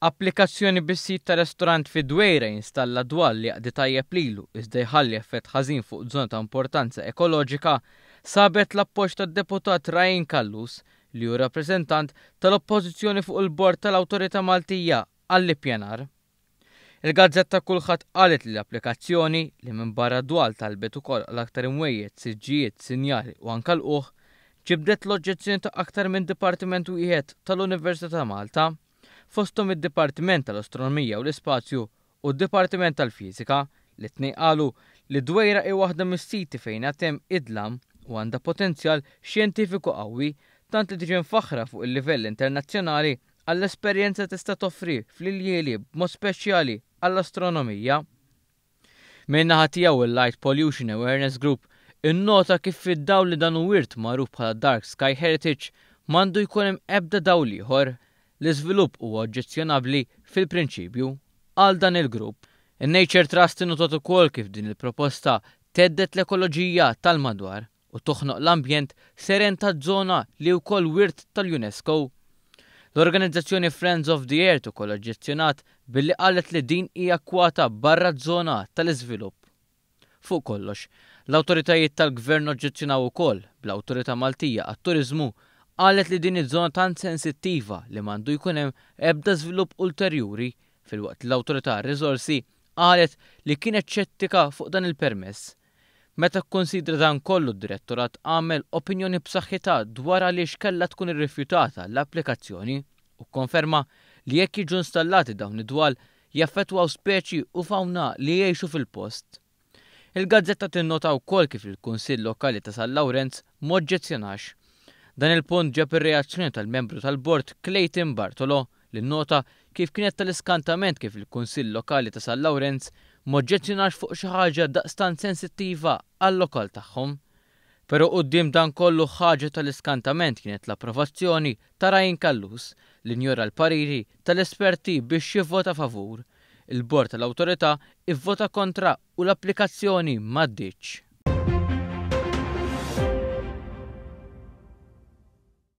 Applikazzjoni biex sid ta' restorant fid-Dwejra jinstalla dwal li jaqdi tajjeb lilu iżda jħalli effett ħażin fuq żona ta' importanza ekoloġika sabet l-appoġġ tad-Deputat Ryan Callus li hu rappreżentant tal-Oppożizzjoni fuq il-Bord tal-Awtorità Maltija għall-Ippjanar. Il-gazzetta Kullħadd qalet li l-applikazzjoni, li minbarra d-dwal talbet ukoll għal aktar imwejjed, siġġijiet, sinjali u anke lqugħ, ġibdet l-oġġezzjoni ta' aktar minn dipartiment wieħed tal-Università ta' Malta, fosthom id-Dipartiment tal-Astronomija u l-Ispazju u d-Dipartiment tal-Fiżika, li t-tnejn qalu li d-Dwejra hi waħda mis-siti fejn għad hemm id-dlam u għandha potenzjal xjentifiku qawwi tant li tiġi mfaħħra fuq il-livell internazzjonali għall-esperjenza li tista' toffri fl-iljieli b'mod speċjali għall-astronomija. Min-naħa tiegħu il-Light Pollution Awareness Group innota kif fid-dawl li dan hu wirt magħruf bħala Dark Sky Heritage m'għandu jkun hemm ebda dawl ieħor. L-iżvilupp huwa oġġezzjonabbli fil-prinċipju, qal dan il-grupp. In-Nature Trust innotat ukoll kif din il-proposta thedded l-ekoloġija tal-madwar. u toħnoq l-ambjent seren taż-żona li wkoll wirt tal-UNESCO. L-organizzazzjoni Friends of the Earth ukoll oġġezzjonat billi qalet li din hija kwata barra z-zona tal-iżvilupp. Fuq kollox, l-awtoritajiet tal-Gvern oġġezzjonaw ukoll, bl-Awtorità Maltija għat-Turiżmu qalet li din hi żona tant sensittiva li m'għandu jkun hemm ebda żvilupp ulterjuri filwaqt li l-Awtorità għar-Riżorsi qalet li kienet xettika fuq dan il-permess. Meta kkunsidra dan kollu d-Direttorat għamel opinjoni b'saħħitha dwar għaliex kellha tkun irrifjutata l-applikazzjoni u kkonferma li jekk jiġu installati dawn id-dwal jaffettwaw speċi u fawna li jgħixu fil-post. Il-gazzetta tinnota wkoll kif il-Kunsill Lokali ta' San Lawrenz m'oġġezzjonax. Dan il-punt ġab ir-reazzjoni tal-membru tal-Bord Clayton Bartolo li nnota kif kienet tal-iskantament kif il-Kunsill Lokali ta' San Lawrenz m'oġġezzjonax fuq xi ħaġa daqstant sensittiva għal-lokal tagħhom. Pero quddiem dan kollu ħaġa tal-iskantament kienet l-approvazzjoni ta' Ryan Callus li njora l-pariri tal-esperti biex jivvota favur. Il-Bord tal-Awtorità ivvota kontra u l-applikazzjoni m'għaddietx.